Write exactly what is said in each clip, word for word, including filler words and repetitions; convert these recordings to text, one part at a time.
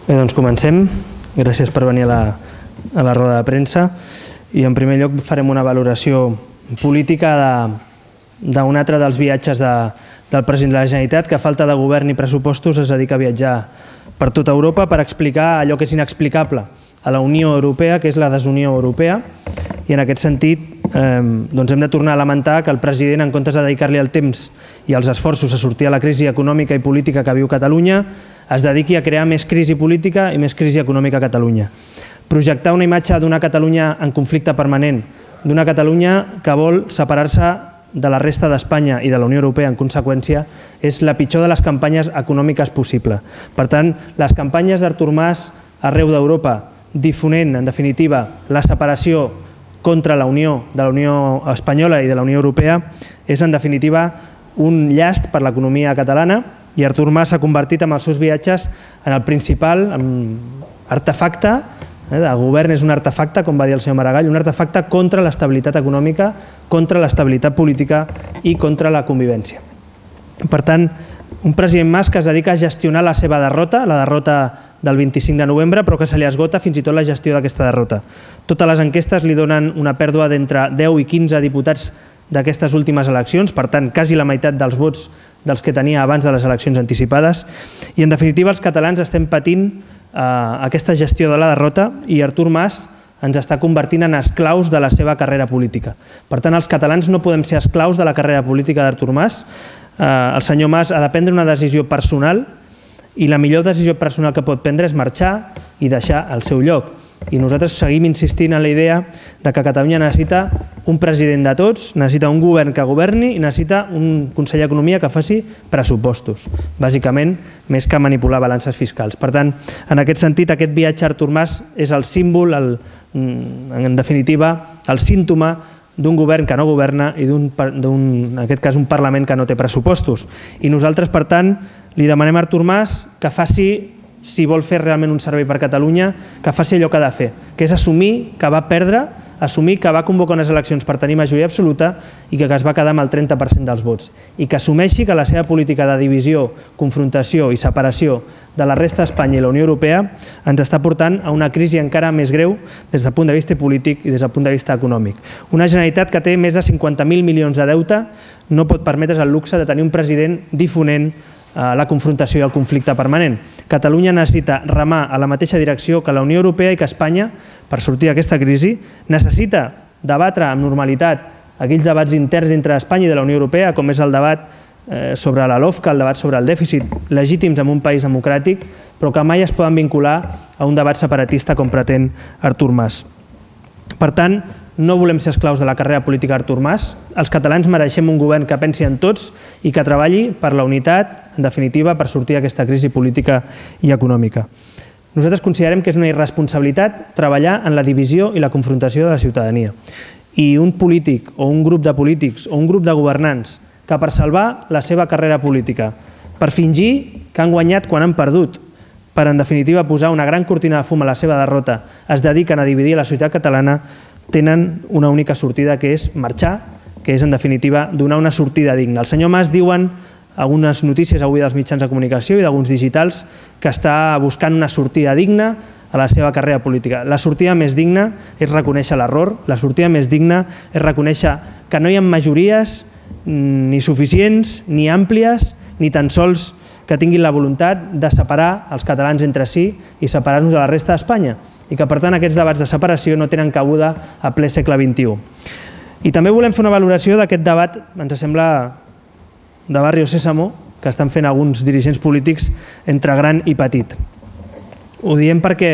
Bé, doncs comencem. Gràcies per venir a la, a la roda de premsa. I en primer lloc farem una valoració política d'un altre dels viatges de, del president de la Generalitat, que a falta de govern i pressupostos es dedica a viatjar per tota Europa per explicar allò que és inexplicable a la Unió Europea, que és la desunió europea. I en aquest sentit eh, doncs hem de tornar a lamentar que el president, en comptes de dedicar-li el temps i els esforços a sortir a la crisi econòmica i política que viu Catalunya, es dediqui a crear més crisi política i més crisi econòmica a Catalunya. Projectar una imatge d'una Catalunya en conflicte permanent, d'una Catalunya que vol separar-se de la resta d'Espanya i de la Unió Europea en conseqüència, és la pitjor de les campanyes econòmiques possible. Per tant, les campanyes d'Artur Mas arreu d'Europa, difonent, en definitiva, la separació contra la Unió de la Unió Espanyola i de la Unió Europea, és en definitiva un llast per l'economia catalana, i Artur Mas s'ha convertit amb els seus viatges en el principal artefacte, el govern és un artefacte, com va dir el senyor Maragall, un artefacte contra l'estabilitat econòmica, contra l'estabilitat política i contra la convivència. Per tant, un president Mas que es dedica a gestionar la seva derrota, la derrota del vint-i-cinc de novembre, però que se li esgota fins i tot la gestió d'aquesta derrota. Totes les enquestes li donen una pèrdua d'entre deu i quinze diputats d'aquestes últimes eleccions, per tant, quasi la meitat dels vots dels que tenia abans de les eleccions anticipades. I, en definitiva, els catalans estem patint eh, aquesta gestió de la derrota i Artur Mas ens està convertint en esclaus de la seva carrera política. Per tant, els catalans no podem ser esclaus de la carrera política d'Artur Mas. Eh, el senyor Mas ha de prendre una decisió personal i la millor decisió personal que pot prendre és marxar i deixar el seu lloc. I nosaltres seguim insistint en la idea de que Catalunya necessita un president de tots, necessita un govern que governi i necessita un conseller d'Economia que faci pressupostos, bàsicament, més que manipular balances fiscals. Per tant, en aquest sentit, aquest viatge a Artur Mas és el símbol, el, en definitiva, el símptoma d'un govern que no governa i d'un, en aquest cas, un Parlament que no té pressupostos. I nosaltres, per tant, li demanem a Artur Mas que faci, si vol fer realment un servei per Catalunya, que faci allò que ha de fer, que és assumir que va perdre, assumir que va convocar unes eleccions per tenir majoria absoluta i que es va quedar amb el trenta per cent dels vots. I que assumeixi que la seva política de divisió, confrontació i separació de la resta d'Espanya i la Unió Europea ens està portant a una crisi encara més greu des del punt de vista polític i des del punt de vista econòmic. Una Generalitat que té més de cinquanta mil milions de deute no pot permetre's el luxe de tenir un president difonent la confrontació i el conflicte permanent. Catalunya necessita remar a la mateixa direcció que la Unió Europea i que Espanya per sortir d'aquesta crisi. Necessita debatre amb normalitat aquells debats interns entre Espanya i de la Unió Europea, com és el debat sobre la LOFCA, el debat sobre el dèficit, legítims en un país democràtic, però que mai es poden vincular a un debat separatista com pretén Artur Mas. Per tant, no volem ser esclaus de la carrera política d'Artur Mas. Els catalans mereixem un govern que pensi en tots i que treballi per la unitat, en definitiva, per sortir d'aquesta crisi política i econòmica. Nosaltres considerem que és una irresponsabilitat treballar en la divisió i la confrontació de la ciutadania. I un polític o un grup de polítics o un grup de governants que per salvar la seva carrera política, per fingir que han guanyat quan han perdut, per en definitiva posar una gran cortina de fum a la seva derrota, es dediquen a dividir la societat catalana, tenen una única sortida, que és marxar, que és en definitiva donar una sortida digna. El senyor Mas, diuen algunes notícies avui dels mitjans de comunicació i d'alguns digitals, que està buscant una sortida digna a la seva carrera política. La sortida més digna és reconèixer l'error, la sortida més digna és reconèixer que no hi ha majories ni suficients, ni àmplies, ni tan sols que tinguin la voluntat de separar els catalans entre si i separar-nos de la resta d'Espanya, i que per tant aquests debats de separació no tenen cabuda a ple segle vint-i-u. I també volem fer una valoració d'aquest debat, ens sembla de Barrio Sésamo, que estan fent alguns dirigents polítics entre gran i petit. Ho diem perquè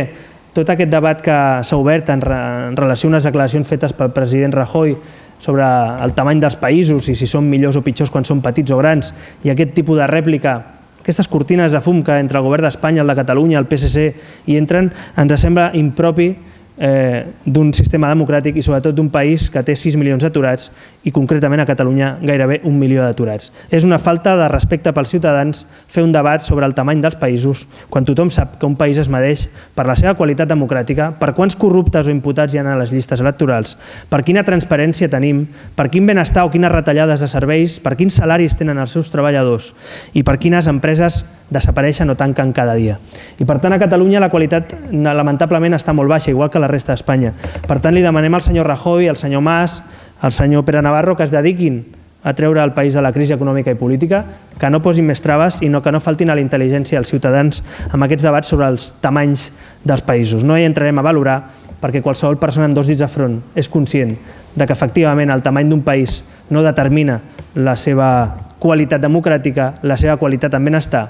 tot aquest debat que s'ha obert en relació a unes declaracions fetes pel president Rajoy sobre el tamany dels països i si són millors o pitjors quan són petits o grans, i aquest tipus de rèplica, aquestes cortines de fum que entre el govern d'Espanya, el de Catalunya, el P S C hi entren, ens sembla impropi d'un sistema democràtic i sobretot d'un país que té sis milions d'aturats i concretament a Catalunya gairebé un milió d'aturats. És una falta de respecte pels ciutadans fer un debat sobre el tamany dels països quan tothom sap que un país es medeix per la seva qualitat democràtica, per quants corruptes o imputats hi ha a les llistes electorals, per quina transparència tenim, per quin benestar o quines retallades de serveis, per quins salaris tenen els seus treballadors i per quines empreses desapareixen o tanquen cada dia. I per tant a Catalunya la qualitat lamentablement està molt baixa, igual que la resta d'Espanya. Per tant li demanem al senyor Rajoy, al senyor Mas, al senyor Pere Navarro que es dediquin a treure el país de la crisi econòmica i política, que no posin més traves i que no faltin a la intel·ligència dels ciutadans amb aquests debats sobre els tamanys dels països. No hi entrarem a valorar perquè qualsevol persona amb dos dits de front és conscient de que efectivament el tamany d'un país no determina la seva qualitat democràtica, la seva qualitat en benestar,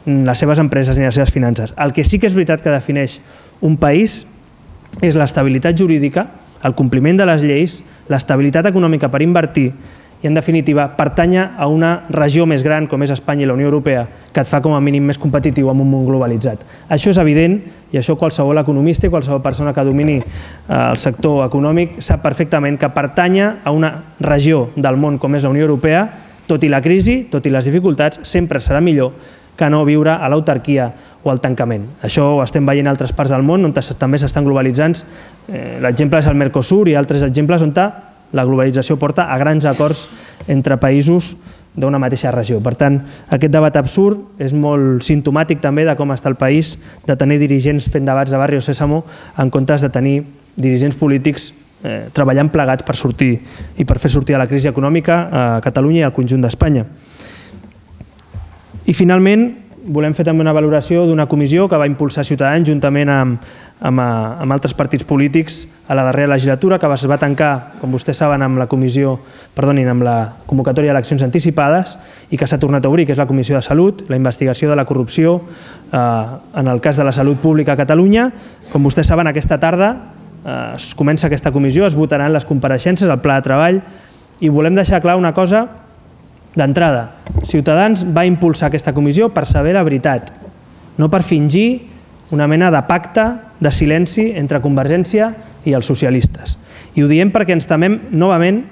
les seves empreses ni les seves finances. El que sí que és veritat que defineix un país és l'estabilitat jurídica, el compliment de les lleis, l'estabilitat econòmica per invertir i, en definitiva, pertànyer a una regió més gran com és Espanya i la Unió Europea que et fa com a mínim més competitiu en un món globalitzat. Això és evident i això qualsevol economista i qualsevol persona que domini el sector econòmic sap perfectament que pertànyer a una regió del món com és la Unió Europea, tot i la crisi, tot i les dificultats, sempre serà millor que no viure a l'autarquia o al tancament. Això ho estem veient en altres parts del món on també s'estan globalitzant. L'exemple és el Mercosur i altres exemples on la globalització porta a grans acords entre països d'una mateixa regió. Per tant, aquest debat absurd és molt simptomàtic també de com està el país, de tenir dirigents fent debats de Barrio Sésamo en comptes de tenir dirigents polítics treballant plegats per sortir i per fer sortir a la crisi econòmica a Catalunya i al conjunt d'Espanya. I finalment, volem fer també una valoració d'una comissió que va impulsar Ciutadans juntament amb, amb, amb altres partits polítics a la darrera legislatura, que es va tancar, com vostès saben, amb la comissió, perdonin, amb la convocatòria d'eleccions anticipades i que s'ha tornat a obrir, que és la Comissió de Salut, la investigació de la corrupció eh, en el cas de la salut pública a Catalunya. Com vostès saben, aquesta tarda eh, es comença aquesta comissió, es votaran les compareixences, el pla de treball, i volem deixar clar una cosa d'entrada. Ciutadans va impulsar aquesta comissió per saber la veritat, no per fingir una mena de pacte de silenci entre Convergència i els socialistes. I ho diem perquè ens temem novament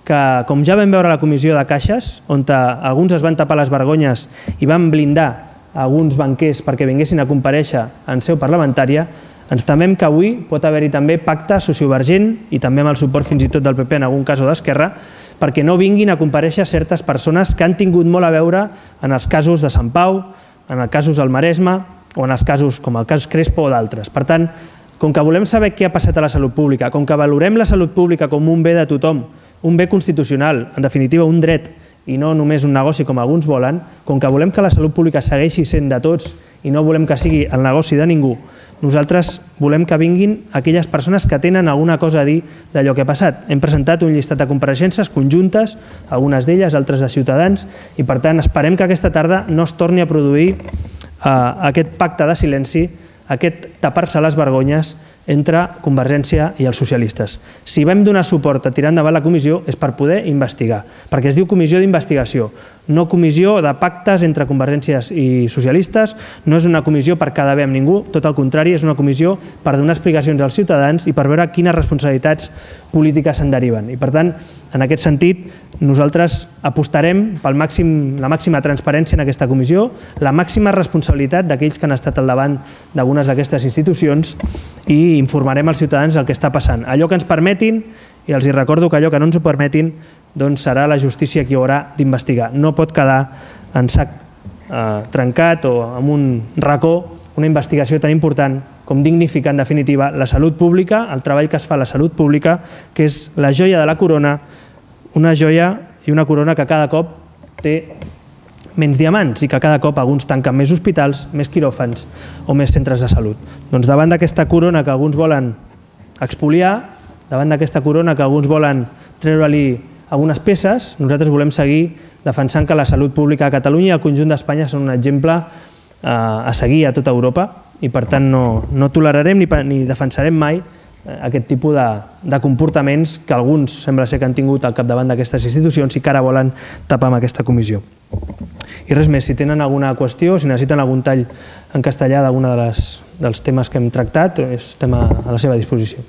que, com ja vam veure a la comissió de caixes, on alguns es van tapar les vergonyes i van blindar alguns banquers perquè vinguessin a comparèixer en seu parlamentària, ens temem que avui pot haver-hi també pacte sociovergent i també amb el suport fins i tot del P P en algun cas o d'Esquerra, perquè no vinguin a comparèixer certes persones que han tingut molt a veure en els casos de Sant Pau, en els casos del Maresme o en els casos com el cas Crespo o d'altres. Per tant, com que volem saber què ha passat a la salut pública, com que valorem la salut pública com un bé de tothom, un bé constitucional, en definitiva un dret i no només un negoci com alguns volen, com que volem que la salut pública segueixi sent de tots i no volem que sigui el negoci de ningú, nosaltres volem que vinguin aquelles persones que tenen alguna cosa a dir d'allò que ha passat. Hem presentat un llistat de compareixences conjuntes, algunes d'elles, altres de Ciutadans, i per tant esperem que aquesta tarda no es torni a produir aquest pacte de silenci, aquest tapar-se les vergonyes entre Convergència i els socialistes. Si vam donar suport a tirar endavant la comissió és per poder investigar, perquè es diu comissió d'investigació, no comissió de pactes entre Convergències i socialistes, no és una comissió per quedar bé amb ningú, tot el contrari, és una comissió per donar explicacions als ciutadans i per veure quines responsabilitats polítiques se'n deriven. I per tant, en aquest sentit, nosaltres apostarem per la màxima transparència en aquesta comissió, la màxima responsabilitat d'aquells que han estat al davant d'algunes d'aquestes institucions i informarem als ciutadans del que està passant. Allò que ens permetin, i els recordo que allò que no ens ho permetin, doncs serà la justícia qui haurà d'investigar. No pot quedar en sac trencat o en un racó una investigació tan important com dignificar en definitiva la salut pública, el treball que es fa a la salut pública, que és la joia de la corona, una joia i una corona que cada cop té menys diamants i que cada cop alguns tanquen més hospitals, més quiròfans o més centres de salut. Doncs davant d'aquesta corona que alguns volen expoliar, davant d'aquesta corona que alguns volen treure-li algunes peces, nosaltres volem seguir defensant que la salut pública a Catalunya i al conjunt d'Espanya són un exemple a seguir a tota Europa i per tant no tolerarem ni defensarem mai aquest tipus de comportaments que alguns sembla ser que han tingut al capdavant d'aquestes institucions i que ara volen tapar amb aquesta comissió. I res més, si tenen alguna qüestió, si necessiten algun tall en castellà d'algun dels temes que hem tractat, estem a la seva disposició.